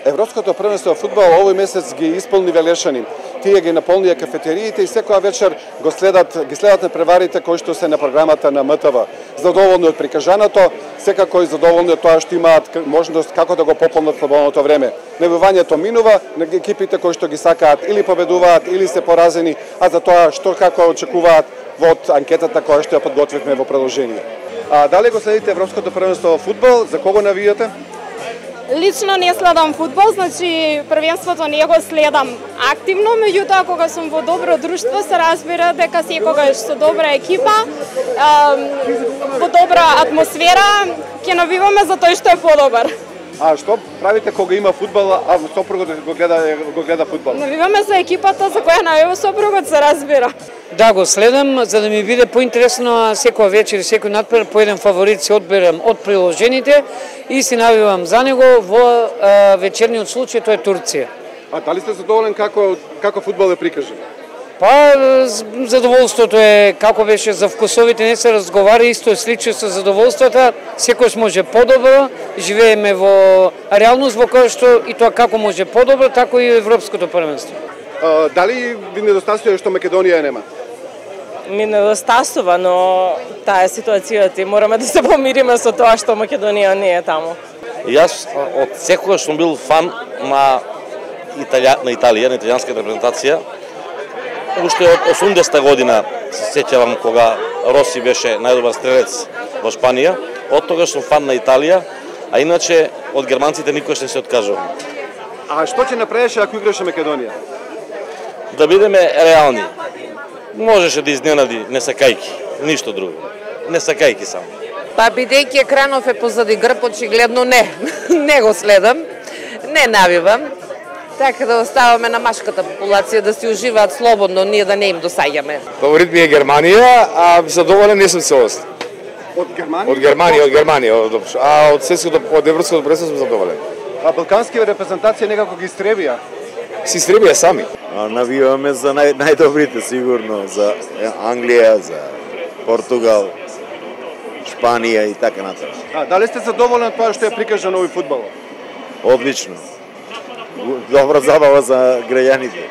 Европското првенство во фудбал овој месец ги исполни велешани. Тие ги наполнија кафетериите и секоја вечер ги следат преварите кои што се на програмата на МТВ. Задоволни од прикажаното, секако и задоволни од тоа што имаат можност како да го пополнат слободното време. Небивањето минува, на екипите кои што ги сакаат или победуваат или се поразени, а за тоа што како очекуваат во анкетата која што ја подготвивме во продолжение. Дали го следите Европското првенство во фудбал? За кого навијате? Лично не следам фудбал, значи првенството не го следам активно, меѓутоа кога сум во добро друштво се разбира дека секогаш со добра екипа, во добра атмосфера ќе навиваме за тој што е подобар. А што правите кога има фудбал, а сопругот го гледа фудбал? Навиваме за екипата за која навива сопругот, се разбира. Да, го следам, за да ми биде поинтересно секоја вечер и секој надпред по еден фаворит се одберам од приложените и си навивам за него. Во вечерниот случај тоа е Турција. А дали сте задоволен како фудбал е прикажан? Па, задоволството е, како беше за вкусовите, не се разговара, исто е слично со задоволството, секојаш може подобро, живееме во реалност во која што и тоа како може подобро, тако и Европското првенство. Дали ви недостасува што Македонија нема? Ми недостасува, но таа е ситуацијата и мораме да се помириме со тоа што Македонија не е таму. Јас од секогаш сум бил фан на Италија, на италијанската репрезентација. Уште од 80-та година се сеќавам кога Роси беше најдобар стрелец во Шпанија. Од тогаш сум фан на Италија, а иначе од германците никош не се откажувам. А што ќе направеше ако играше Македонија? Да бидеме реални. Можеше да изненади не сакајки, ништо друго. Не сакајки само. Па бидејќи екранов е позади грб, очигледно не го следам, не навивам. Така да оставаме на машката популација да си уживаат слободно, ние да не им досаѓаме. Фаворит ми е Германија, а задоволен не сум целосно. Од Германија? Од Германија, а од светското, од европското првенство сум задоволен. А балкански репрезентација некако ги истребија? Си истребија сами. Навиваме за најдобрите сигурно, за Англија, за Португал, Шпанија и така натаму. Дали сте задоволен од тоа што е прикажано овој фудбал? Одлично. Добра забава за граѓаните.